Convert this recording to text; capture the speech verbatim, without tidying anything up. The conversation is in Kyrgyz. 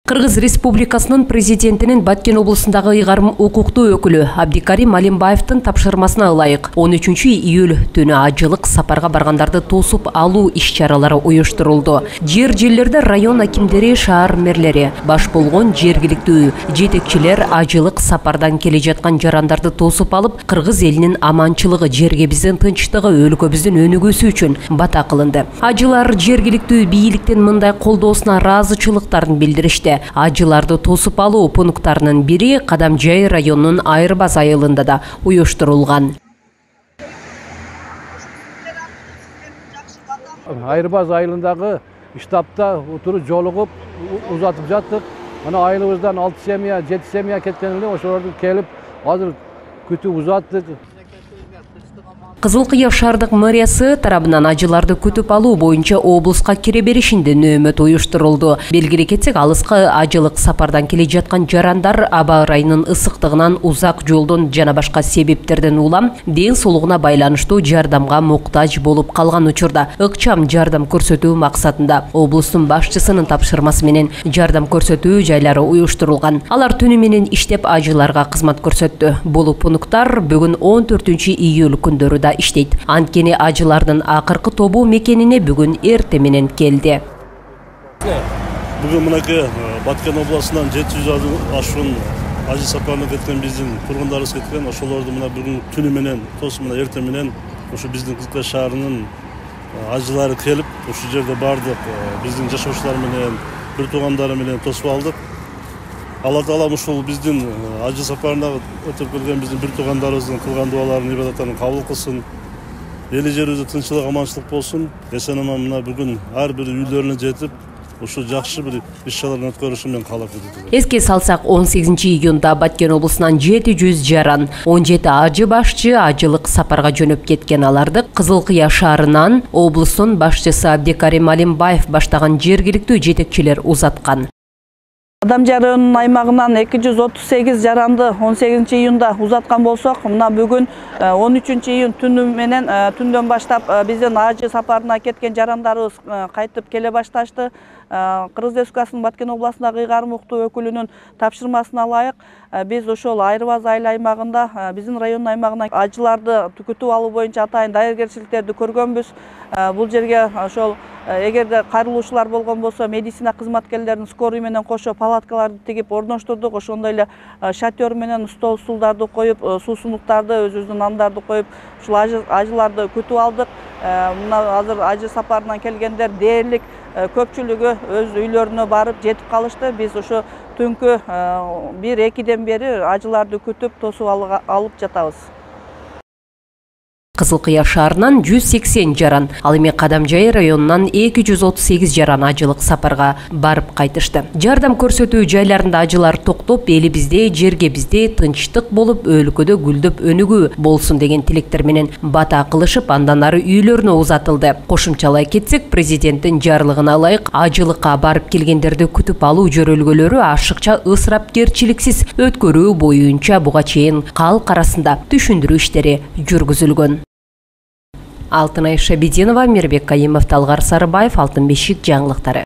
Кыргыз Республикасынын президентинин Баткен облусундагы ыйгарым укуктуу өкүлү Абдикарим Алимбаевдин тапшырмасына ылайык он үчүнчү июль түнү ажылык сапарга баргандарды тосуп алуу иш-чаралары уюштурулду. Жер жерлерде район акимдери, шаар мэрлери, баш болгон жергиликтүү жетекчилер ажылык сапардан келе жаткан жарандарды тосуп алып, кыргыз элинин аманчылыгы, жергебиздин тынчтыгы, өлкөбүздүн өнүгүүсү үчүн бата кылынды. Ажылар жергиликтүү бийликтин мындай колдоосуна ыраазычылыктарын билдиришти. Ажыларды тосуп алуу пункттарынын бири Кадамжай районунун Айырбаз айылында да уюштурулган. Айырбаз айылындагы штабта отуруп жолугуп узатып жаттык. Ана айылыбыздан алты семья, жети семья кеткен эле, ошолорду келип азыр күтүп узаттык. Кызыл Кыя шаардык мэриясы тарабынан ажыларды күтүп алуу боюнча облуска кире беришинде нөөмөт уюштурулду. Белгилей кетсек, алыска ажылык сапардан келе жаткан жарандар аба ырайынын ысыктыгынан, узак жолдон жана башка себептерден улам ден соолугуна байланыштуу жардамга муктаж болуп калган учурда ыкчам жардам көрсөтүү максатында облустун башчысынын тапшырмасы менен жардам көрсөтүү жайлары уюштурулган. Алар түнү менен иштеп ажыларга кызмат көрсөттү. Бул пункттар бүгүн он төртүнчү июль күндөрү иштейт. Анткени ажылардын акыркы тобу мекенине бүгүн эрте менен келди. Бүгүн мынакей Баткен областынан жети жүз ашуун ажы сапарына кеткен биздин тургундарыбыз кеткен. Ошолорду мына бүгүн түнү менен, тосуп мына эрте менен ушу биздин Кызыл Кыя шаарынын ажылары келип, ушу жерде бардык биздин жашоочулар менен, бир туугандары менен тосуп алдык. Алла Таала ушул биздин ажы сапарына өтүп келген биздин бир туугандарыбыздын кылган дуаларын, ибадаттарын кабыл кылсын. Эли жерибизде тынччылык, аманчылык болсун. Эсен-аман мына бүгүн ар бир үйлөрүнө жетип, ушу жакшы бир иш-чараларды өткөрүшүн мен каалап кетем. Эске салсак, он сегизинчи июнда Баткен облусунан жети жүз жаран, он жети ажы башчы ажылык сапарга жөнөп кеткен. Аларды Кызыл Кыя шаарынан облустун башчысы Абдикарим Алимбаев баштаган жергиликтүү жетекчилер узаткан. Кадамжай районунун аймагынан эки жүз отуз сегиз жаранды он сегизинчи июнда узаткан болсок, мына бүгүн он үчүнчү июнь түнү менен түндөн баштап биздин ажы сапарына кеткен жарандарыбыз кайтып келе башташты. Кыргыз Республикасынын Баткен областындагы ыйгарым укуктуу өкүлүнүн тапшырмасына ылайык биз ошол Айырбаз айыл аймагында биздин райондун аймагына ажыларды күтүп алуу боюнча атайын даяргерчиликтерди көргөнбүз. Бул жерге ошол эгерде кайрылуучулар болгон болсо, медицина кызматкерлерин скорый менен кошо палаткаларды тигип орноштурдук. Ошондой эле шатер менен стол стулдарды коюп, суусундуктарды, өзүбүздүн нандарды коюп, ушул ажыларды күтүп алдык. Мына азыр ажы сапарынан келгендер дээрлик көпчүлүгү өз үйлөрүнө барып жетип калышты. Биз ошо түнкү бир экиден бери ажыларды күтүп, тосуп алып жатабыз. Кызыл Кыя шаарынан жүз сексен жаран, ал эми Кадамжай районунан эки жүз отуз сегиз жаран ажылык сапарга барып кайтышты. Жардам көрсөтүү жайларында ажылар токтоп, элибизде, жергебизде тынчтык болуп, өлкөдө гүлдөп өнүгүү болсун деген тилектер менен бата кылышып, андан ары үйлөрүнө узатылды. Кошумчалай кетсек, президенттин жарлыгына ылайык ажылыкка барып келгендерди күтүп алуу жөрөлгөлөрү ашыкча ысырапкерчиликсиз өткөрүү боюнча буга чейин калк арасында түшүндүрүү иштери жүргүзүлгөн. Алтынай Шабидинова, Мирбек Кайымов, Талгар Сарыбаев, Алтын бешик жаңылыктары.